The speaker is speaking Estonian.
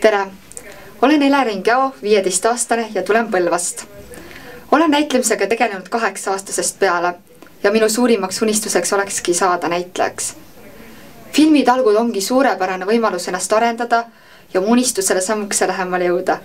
Tere! Olen Elering Jao, 15-aastane ja tulen Põlvast. Olen näitlemisega tegelenud 8-aastasest peale ja minu suurimaks unistuseks olekski saada näitlejaks. Filmitalgud ongi suurepärane võimalus ennast arendada ja mu unistusele sammukese lähemale jõuda.